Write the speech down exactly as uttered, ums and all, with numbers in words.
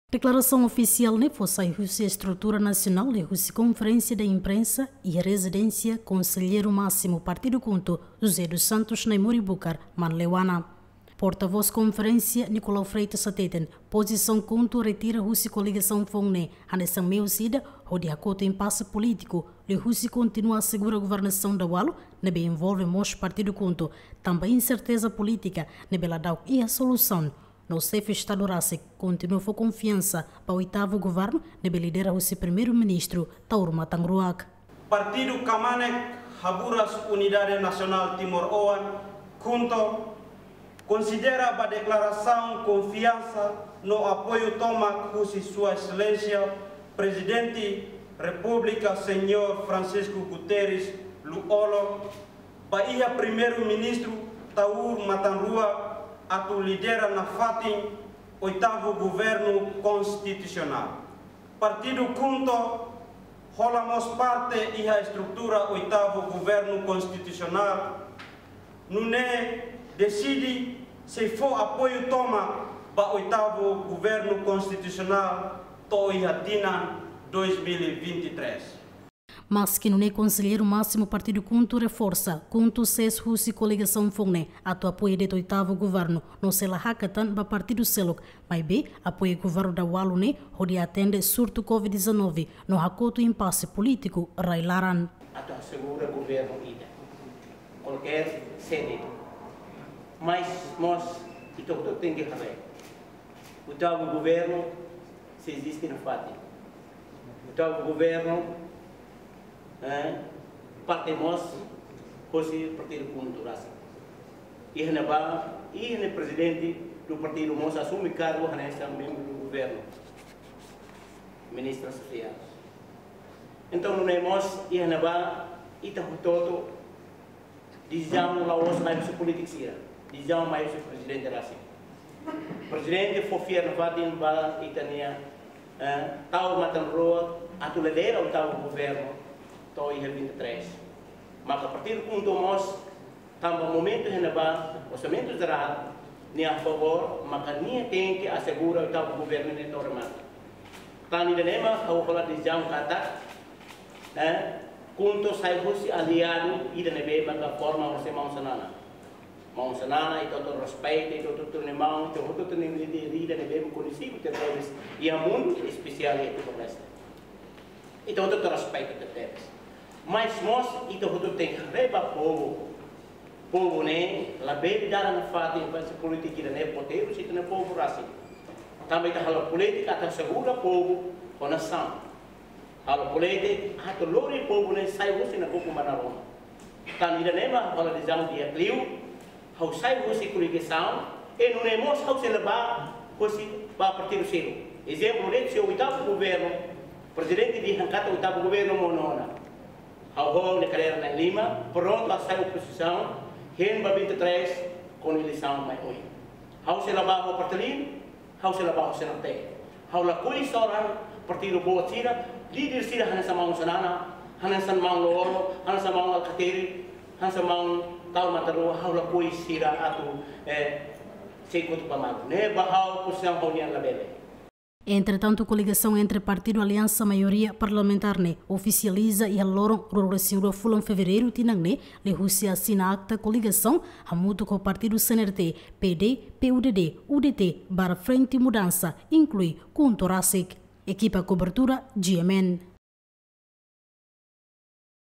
Deklarasaun ofisiál ne'e fó sai husi estrutura nasionál liuhusi konferénsia de imprensa iha rezidénsia Konselleiru Másimu Partidu KHUNTO, José dos Santos Naimuribukar, Manleuana. Portavós konferénsia, Nicolau Freitas hateten, pozisaun KHUNTO retira husi koligasaun foun ne'e hanesan meius ida hodi hakotu impase polítiku liuhusi kontinua asegura governasaun daudaun ne'ebé envolve mós Partidu KHUNTO, tanba inserteza polítika ne'ebé ladauk iha solusaun. No xefe Estadu rasik kontinua fó konfiansa ba oitavu governu ne'ebé lidera husi Primeiru-Ministru Taur Matan Ruak. Partidu Kmanek Haburas Unidade Nasionál Timoroan, KHUNTO, konsidera ba deklarasaun konfiansa no apoiu tomak husi Sua Exelénsia Prezidente Repúblika Señór Francisco Guterres Lú-Olo ba iha Primeiru-Ministru Taur Matan Ruak atu lidera nafatin oitavu governu konstitusionál. Partidu KHUNTO hola mós parte iha estrutura oitavu governu konstitusionál, nune'e deside sei fó apoiu tomak ba oitavu governu konstitusionál to'o iha tinan dois mil e vinte e três. Maski nune'e, Konselleiru Másimu Partidu KHUNTO reforsa, KHUNTO sees husi koligasaun foun ne'e atu apoia de'it oitavu governu, no sei la hakat tan ba partidu seluk, maibé apoia governu daudaun ne'e hodi atende surtu covid dezanove no hakotu impase polítiku rai-laran. Atu asegura governu ida, kualkér sede, mas mós ita hotu tenke haree. Oitavu governu sei eziste nafatin. Oitavu governu, eh, parte mós hosi Partidu KHUNTO rasik. Iha ne'ebá, iha ne'e prezidente do partidu mós asume kargu hanesan membru do governu, ministra Sofia. Entaun, nune'e mós, iha ne'ebá, ita hotu-hotu, desizaun la'ós mai husi polítiku sira, desizaun mai husi prezidente rasik. Prezidente fó fiar nafatin ba ita-nia, eh, Taur Matan Ruak atu lidera oitavu governu to'o iha vinte e três. Maka Partidu KHUNTO mós, tanba momentu iha ne'ebá, orsamentu jerál, nia a favór, maka nia tenke asegura oitavu governu ne'e to'o remata. Tan ida-ne'e mak ha'u hola desizaun katak, eh, KHUNTO sai husi aliadu ida ne'ebé maka forma hosi maun Xanana. Maun Xanana, ita hotu respeita, ita hotu hatene maun, ita hotu hatene líder ida ne'ebé koñesidu tebes iha mundu, espesiál iha Timor-Leste. Ita hotu respeita tebes. Mas mós, ita hotu tenke haree ba povu. Povu ne'e labele dada nafatin ba polítika ida ne'e potelu, se ita-nia povu rasik. Tanba ita halo polítika atu asegura povu ho nasaun. Halo polítika atu lori povu ne'e sai husi nakukun ba naroman. Tan ida-ne'e mak ha'u hola desizaun di'ak liu, ha'u sai husi koligasaun, i nune'e mós ha'u sei la bá husi ba partidu seluk. Ezemplu, durante oitavu governu, prezidente dehan katak oitavu governu monu ona. Ha'u ho ha'u-nia kadeira na'in lima, prontu atu sai opozisaun, hein ba vinte e três, kuandu eleisaun mai oin. Ha'u sei la bá ho Fretilin, ha'u sei la bá ho CNRT. Ha'u lakohi soran partidu boot sira, líder sira hanesan maun Xanana, hanesan maun Lú-Olo, hanesan maun Alkatiri, hanesan maun Taur Matan Ruak, ha'u lakohi sira atu, eh, sei kotu ba malu. Ne'e ba ha'u pozisaun ha'u-nian labele. Entretantu, koligasaun entre partidu Aliansa Maioria Parlamentár ne'e ofisializa iha loron ruanulu-resin-rua fulan Fevereiru tinan ne'e, liuhusi asina akta koligasaun hamutuk ho partidu CNRT, PD, PUDD, UDT, barra Frente Mudança, inklui KHUNTO rasik. Ekipa kobertura, G M N.